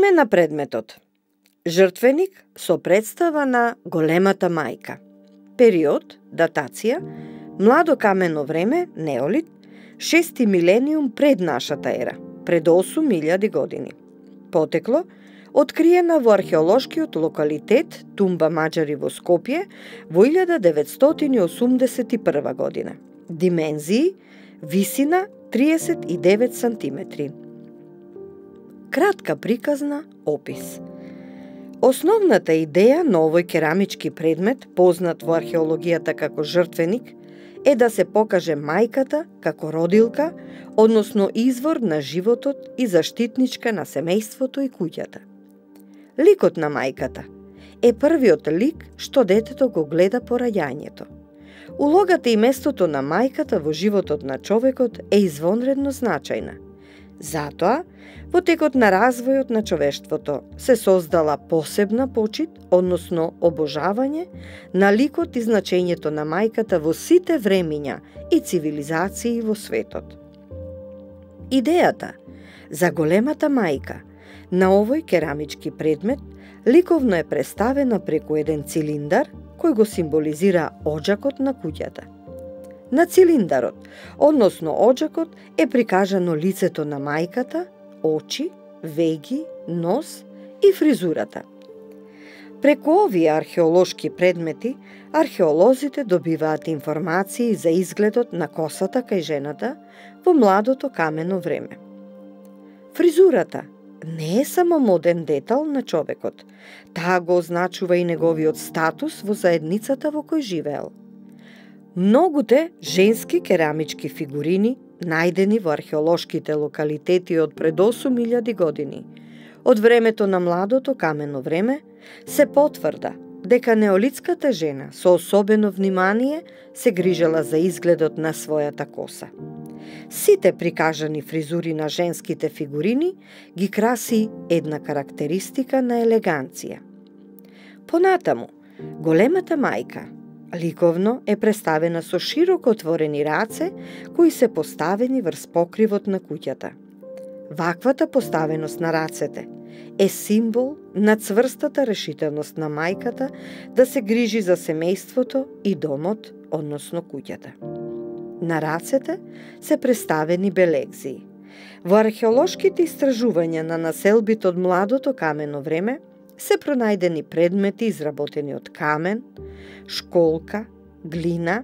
Име на предметот: жртвеник со представа на големата мајка. Период, датација: младо камено време, неолит, 6 милениум пред нашата ера, пред 8000 години. Потекло: откриена во археолошкиот локалитет Тумба Маџари во Скопје во 1981 година. Димензии: висина 39 сантиметри. Кратка приказна опис. Основната идеја на овој керамички предмет, познат во археологијата како жртвеник, е да се покаже мајката како родилка, односно извор на животот и заштитничка на семејството и куќата. Ликот на мајката е првиот лик што детето го гледа по раѓањето. Улогата и местото на мајката во животот на човекот е извонредно значајна. Затоа, во текот на развојот на човештвото се создала посебна почит, односно обожавање, на ликот и значењето на мајката во сите времиња и цивилизации во светот. Идејата за големата мајка на овој керамички предмет ликовно е представена преку еден цилиндар кој го символизира оџакот на куќата. На цилиндарот, односно оџакот, е прикажано лицето на мајката, очи, веги, нос и фризурата. Преку овие археолошки предмети, археолозите добиваат информации за изгледот на косата кај жената во младото камено време. Фризурата не е само моден детал на човекот, таа го означува и неговиот статус во заедницата во кој живеел. Многуте женски керамички фигурини, најдени во археолошките локалитети од пред 8000 години, од времето на младото камено време, се потврда дека неолитската жена со особено внимание се грижела за изгледот на својата коса. Сите прикажани фризури на женските фигурини ги краси една карактеристика на елеганција. Понатаму, големата мајка ликовно е представена со широко отворени раце кои се поставени врз покривот на куќата. Ваквата поставеност на рацете е символ на цврстата решителност на мајката да се грижи за семејството и домот, односно куќата. На рацете се представени белегзии. Во археолошките истражувања на населбите од младото камено време се пронајдени предмети изработени од камен, школка, глина,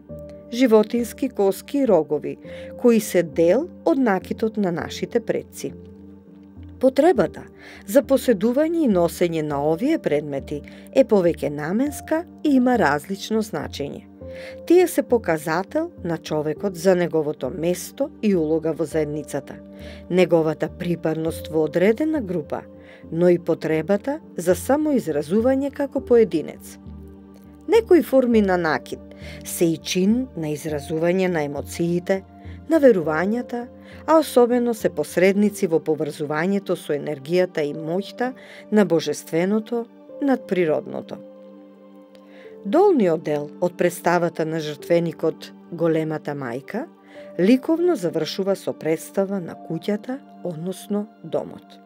животински коски и рогови, кои се дел од накитот на нашите предци. Потребата за поседување и носење на овие предмети е повеќе наменска и има различно значење. Тие се показател на човекот за неговото место и улога во заедницата, неговата припадност во одредена група, но и потребата за самоизразување како поединец. Некои форми на накид се и чин на изразување на емоциите, на верувањата, а особено се посредници во поврзувањето со енергијата и моќта на божественото над природното. Долниот дел од представата на жртвеникот Големата мајка ликовно завршува со представа на куќата, односно домот.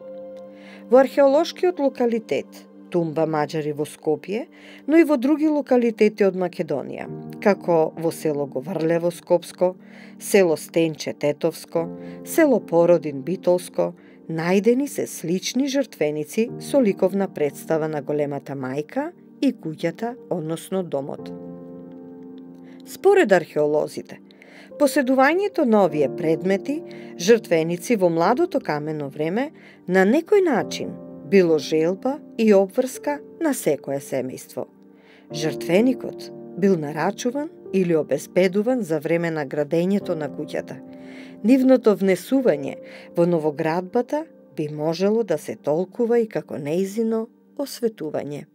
Во археолошкиот локалитет Тумба Маџари во Скопје, но и во други локалитети од Македонија, како во село Говрлево Скопско, село Стенче Тетовско, село Породин Битолско, најдени се слични жртвеници со ликовна представа на Големата мајка и куќата, односно домот. Според археолозите, поседувањето на овие предмети, жртвеници во младото камено време, на некој начин било желба и обврска на секое семејство. Жртвеникот бил нарачуван или обезбедуван за време на градењето на куќата. Нивното внесување во новоградбата би можело да се толкува и како нејзино осветување.